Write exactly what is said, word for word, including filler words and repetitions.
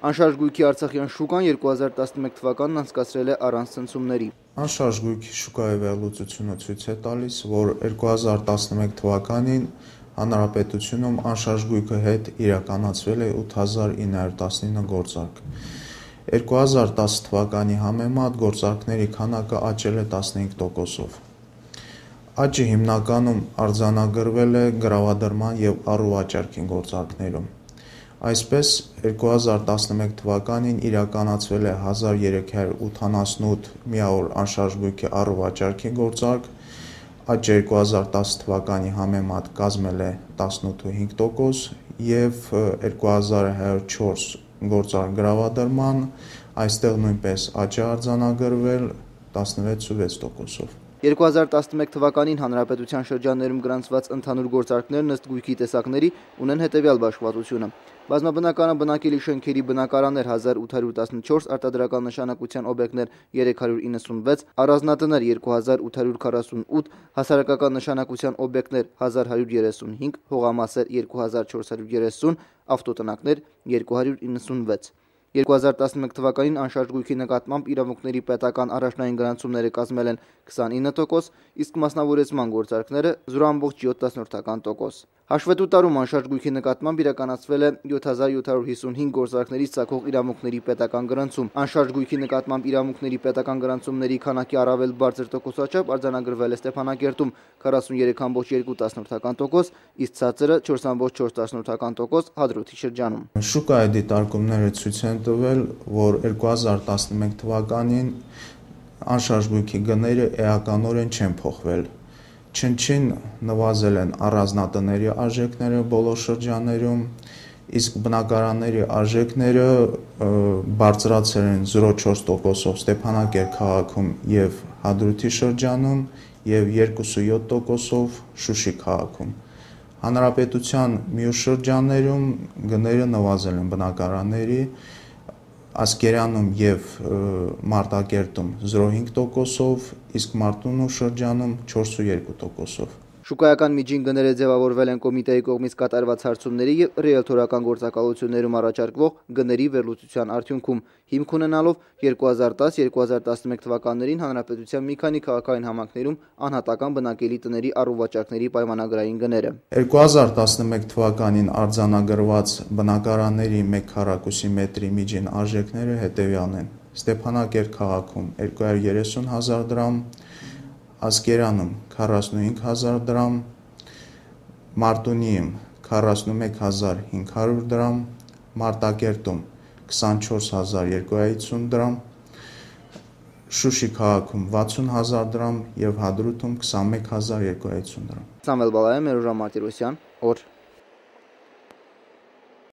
Անշարժ գույքի Արցախյան շուկան երկու հազար տասնմեկ թվականն անցկացրել է առանց ցնցումների։ Անշարժ գույքի շուկայի վերլուծությունը ցույց է տալիս, որ երկու հազար տասնմեկ թվականին հանրապետությունում անշարժ գույքի հետ իրականացվել է ութ հազար ինը հարյուր տասնինը գործարք։ երկու հազար տասը թվականի համեմատ գործարքների քանակը աճել է տասնհինգ տոկոսով։ Աճը հիմնականում արձանագրվել է գրավադրման և առուվաճառքի գործարքներում։ Այսպես, երկու հազար տասնմեկ թվականին իրականացվել է հազար երեք հարյուր ութանասունութ միավոր անշարժ գույքի առուվաճառքի գործարք, աճը երկու հազար տասը թվականի համեմատ կազմել է տասնութ ու հինգ տոկոս և երկու հազար հարյուր չորս գործարք գրավադրման, այստեղ նույնպես աճ է արձանագրվել տասնվեց ու վեց տոկոսով։ երկու հազար տասնմեկ թվականին հանրապետության շրջաններում գրանցված ընդհանուր գործարքներն ըստ գույքի տեսակների ունեն հետևյալ բաշխվածությունը. բազմաբնակարան բնակելի շենքերի բնակարաններ հազար ութ հարյուր տասնչորս, արտադրական նշանակության օբյեկտներ երեք հարյուր իննսունվեց, առանձնատներ երկու հազար ութ հարյուր քառասունութ, հասարակական նշանակության օբյեկտներ հազար հարյուր երեսունհինգ, հողամասեր երկու հազար չորս հարյուր երեսուն, ավտոտնակներ երկու հարյուր իննսունվեց։ երկու հազար տասնմեկ թվականին անշարժ գույքի նկատմամբ իրավունքների պետական առաջնային գրանցումները կազմել են քսանինը տոկոս, իսկ մասնավորեցման գործարքները զրո ամբողջ յոթ տոկոս։ Հաշվետու տարում անշարժ գույքի նկատմամբ իրականացվել է յոթ հազար յոթ հարյուր հիսունհինգ գործարքներից ծագող իրավունքների պետական գրանցում։ Անշարժ գույքի նկատմամբ իրավունքների պետական գրանցումների քանակի առավել բարձր տոկոսաչափ արձանագրվել է Ստեփանակերտում քառասունյերեք ամբողջ երկու տոկոս, իսկ ցածրը չորս ամբողջ չորս տոկոս Հադրութի շրջանում։ Շուկայի դիտարկումները ցույց են տվել, որ երկու հազար տասնմեկ թվականին անշարժ գույքի գները էականորեն չեն փոխվել։ Չնչին նվազել են առանձնատների արժեքները բոլոր շրջաններում, իսկ բնակարանների արժեքները բարձրացել են զրո չորս տոկոսով Ստեփանակերտ քաղաքում և Հադրութի շրջանում և երկու ու յոթ տոկոսով Շուշի քաղաքում։ Հանրապետության մյուս շրջաններում գները նվազել են բնակարանների, Ասկերանում և Մարտակերտում զրո հինգ տոկոսով, իսկ Մարտունու շրջանում չորս ու երկու տոկոսով։ Շուկայական միջին գները ձևավորվել են կոմիտեի կողմից կատարված հարցումների և ռիելթորական գործակալություններում առաջարկվող գների վերլուծության արդյունքում, հիմք ունենալով երկու հազար տաս երկու հազար տասնմեկ թվականներին հանրապետության մի քանի քաղաքային համայնքներում անհատական բնակելի տների առուվաճառքների պայմանագրային գները։ երկու հազար տասնմեկ թվականին արձանագրված բնակարանների մեկ քառակուսի մետրի միջին արժեքները հետևյալն են. Ստեփանակերտ քաղաքում երկու հարյուր երեսուն հազար դրամ, Ասկերանում քառասունհինգ հազար դրամ, Մարտունիում քառասունմեկ հազար հինգ հարյուր դրամ, Մարտակերտում քսանչորս հազար երկու հարյուր հիսուն դրամ, Շուշի քաղաքում վաթսուն հազար դրամ և Հադրութում քսանմեկ հազար երկու հարյուր հիսուն դրամ։ Սամվել Բալայան, Մերուժան Մարտիրոսյան, օր